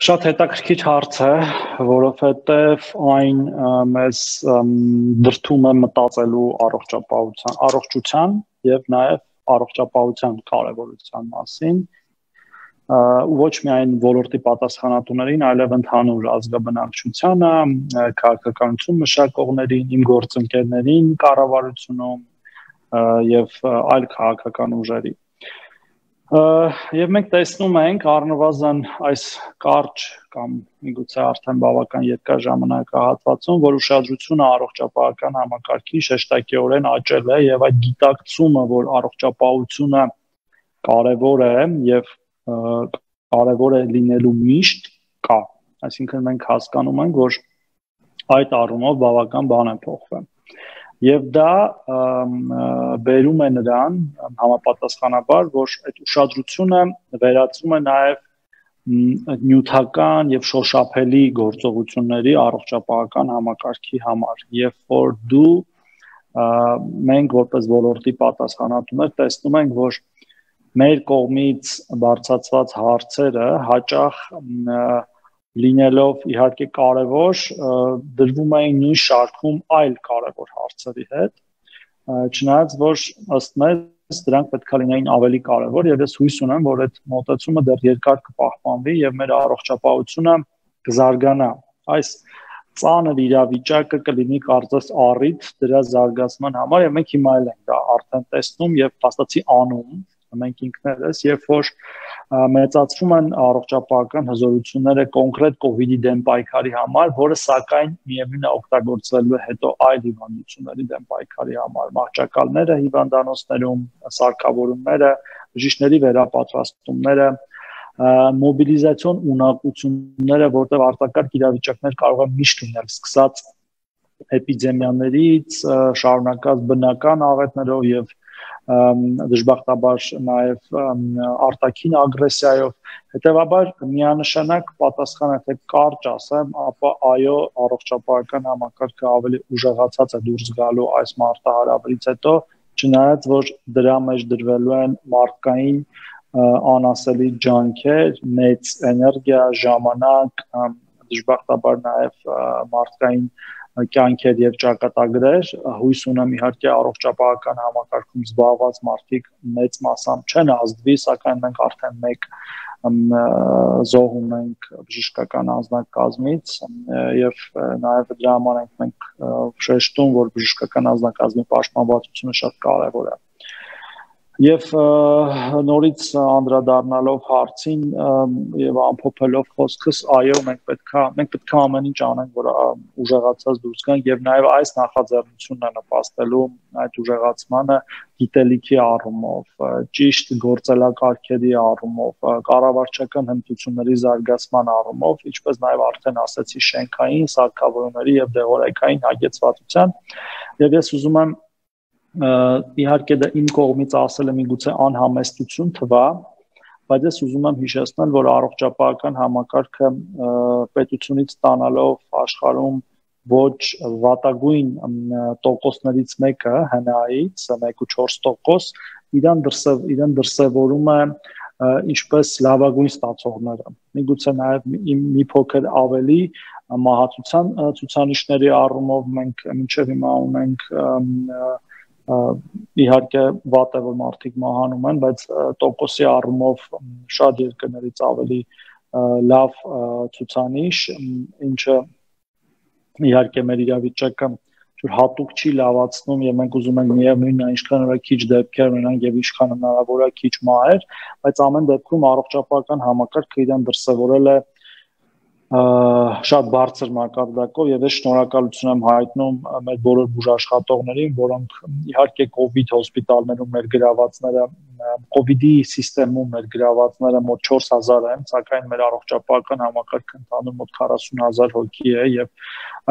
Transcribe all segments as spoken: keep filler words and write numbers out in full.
Շատ հետաքրքիր հարց է, որովհետև այն մեզ դրդում է մտածելու առողջապահության, առողջության եւ նաեւ առողջապահության կարեւորության մասին, ու ոչ միայն ոլորտի պատասխանատուներին, այլև ընդհանուր ազգաբնակչությանը, քաղաքականություն մշակողներին, իմ գործընկերներին, կառավարությունում եւ այլ քաղաքական ուժերի։ Եվ մենք տեսնում ենք առնվազն այս կարճ կամ միգուցե արդեն բավական երկար ժամանակահատվածում, որ ուշադրությունը առողջապահական համակարգի շեշտակիորեն աճել է եւ այդ գիտակցումը, որ առողջապահությունը կարեւոր է եւ կարեւոր է լինելու միշտ կա։ Այսինքն մենք հասկանում ենք, որ այդ առումով բավական բան է փոխվել։ Եվ դա բերում է նրան համապատասխանաբար, որ այդ ուշադրությունը վերածվում է նաև նյութական եւ շոշափելի գործողությունների առողջապահական համակարգի համար, երբ որ դու մենք որպես ոլորտի պատասխանատուներ տեսնում ենք, որ մեր կողմից բարձրացված հարցերը հաճախ լինելով իհարկե կարևոր, դրվում էին նույն շարքում այլ կարևոր հարցերի հետ, չնայած որ ըստ մեզ դրանք պետք է լինեին ավելի կարևոր եւ ես հույս ունեմ, որ այդ մոտեցումը դեռ երկար կպահպանվի եւ մեր առողջապահությունը կզարգանա։ Այս ծանր իրավիճակը կլինի կարծես առիթ դրա զարգացման համար եւ մենք հիմա էլ ենք դա արդեն տեսնում եւ փաստացի անում մենք ինքներս, երբ որ մեծացվում են առողջապահական հզորությունները կոնկրետ կոവിഡ്ի դեմ պայքարի համար, որը սակայն միևնույն է օգտագործվելու է հետո այլ հիվանդությունների դեմ պայքարի համար, մահճակալները հիվանդանոցներում, սարքավորումները, բժիշկների վերապատրաստումները, մոբիլիզացիոն ունակությունները, որտեղ արտակարգ իրավիճակներ կարող են միշտ լինել, սկսած էպիդեմիաներից, շարունակած բնական աղետներով եւ դժբախտաբար նաև արտաքին ագրեսիայով, հետևաբար միանշանակ պատասխանը թե կարճ ասեմ, ապա այո, առողջապահական համակարգը ավելի ուժեղացած է դուրս գալու այս մարտահրավերից հետո, չնայած որ դրա մեջ դրվելու են մարդկային անասելի ջանքեր, մեծ էներգիա, ժամանակ, դժբախտաբար նաև մարդկային կյանքեր եւ ճակատագրեր, հույս ունեմ իհարկե առողջապահական համակարգում զբաղված մարդիկ մեծ մասամբ չեն ազդվի, սակայն մենք արդեն մեկ զոհ ունենք բժշկական անձնակազմից եւ նաեւ դրա համար ենք մենք շեշտում, որ բժշկական անձնակազմի պաշտպանվածությունը շատ կարեւոր է։ Եվ նորից անդրադառնալով հարցին եւ ամփոփելով խոսքս, այո, մենք պետքա մենք պետքա ամեն ինչ անենք, որ ուժեղացած դուրս գանք եւ նաեւ այս նախաձեռնությունն է նպաստելու այդ ուժեղացմանը գիտելիքի առումով, ճիշտ գործելակարգերի առումով, կառավարչական հմտությունների զարգացման առումով, ինչպես նաեւ արդեն ասացի շենքային, սարքավորումների եւ դեղորայքային հագեցվածության, եւ ես ուզում եմ իհարկե դա իմ կողմից ասելը միգուցե անհամեստություն թվա, բայց ես ուզում եմ հիշեցնել, որ առողջապահական համակարգը պետությունից ստանալով աշխարհում ոչ վատագույն տոկոսներից մեկը հնայից մեկ կόμμα չորս տոկոս իրան դրսև իրան դրսևորում է ինչպես լավագույն ստացողները։ Միգուցե նաև մի փոքր ավելի մահացության ցուցանիշների առումով մենք մինչև հիմա ունենք իհարկե վատ է որ մարդիկ մահանում են, բայց տոկոսի առումով շատ երկրներից ավելի լավ ցուցանիշ, ինչը իհարկե մեր իրավիճակը հատուկ չի լավացնում եւ մենք ուզում ենք միևնույնն է ինչքան որ քիչ դեպքեր ունենանք եւ ինչքան հնարավոր է քիչ մահեր, բայց ամեն դեպքում առողջապահական համակարգը իրեն դրսևորել է շատ բարձր մակարդակով եւ ես շնորհակալություն եմ հայտնում մեր բոլոր բուժաշխատողներին, որոնք իհարկե կոവിഡ് հոսպիտալներում ներգրավվածները, կոവിഡի համակարգում ներգրավվածները մոտ չորս հազար են, սակայն մեր առողջապահական համակարգը ընդհանուր մոտ քառասուն հազար հոգի է եւ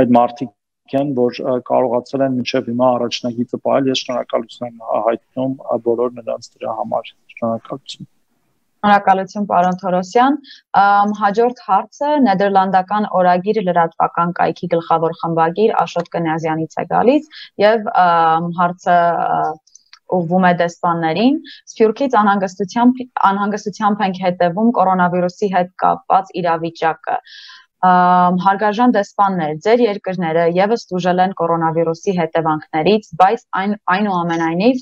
այդ մարդիկ են, որ կարողացել են մինչեւ հիմա առաջնագիծը պահել, ես շնորհակալություն եմ հայտնում բոլոր նրանց դրա համար։ Շնորհակալություն։ Շնորհակալություն պարոն Թորոսյան, հաջորդ հարցը Նեդերլանդական օրագիր լրատվական կայքի գլխավոր խմբագիր Աշոտ Կնյազյանից է գալիս եւ հարցը ուղղվում է դեսպաններին, Սփյուռքից անհանգստությամբ անհանգստությամբ ենք հետևում կորոնավիրուսի հետ կապված իրավիճակը։ Հարգարժան դեսպաններ, ձեր երկրները եւս տուժել են կորոնավիրուսի հետևանքներից, բայց այն այնուամենայնիվ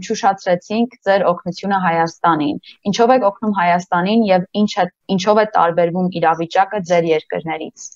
չուշացրեցինք ձեր օգնությունը Հայաստանին։ Ինչով եք օգնում Հայաստանին եւ ինչ է ինչով է տարբերվում իրավիճակը ձեր երկրներից։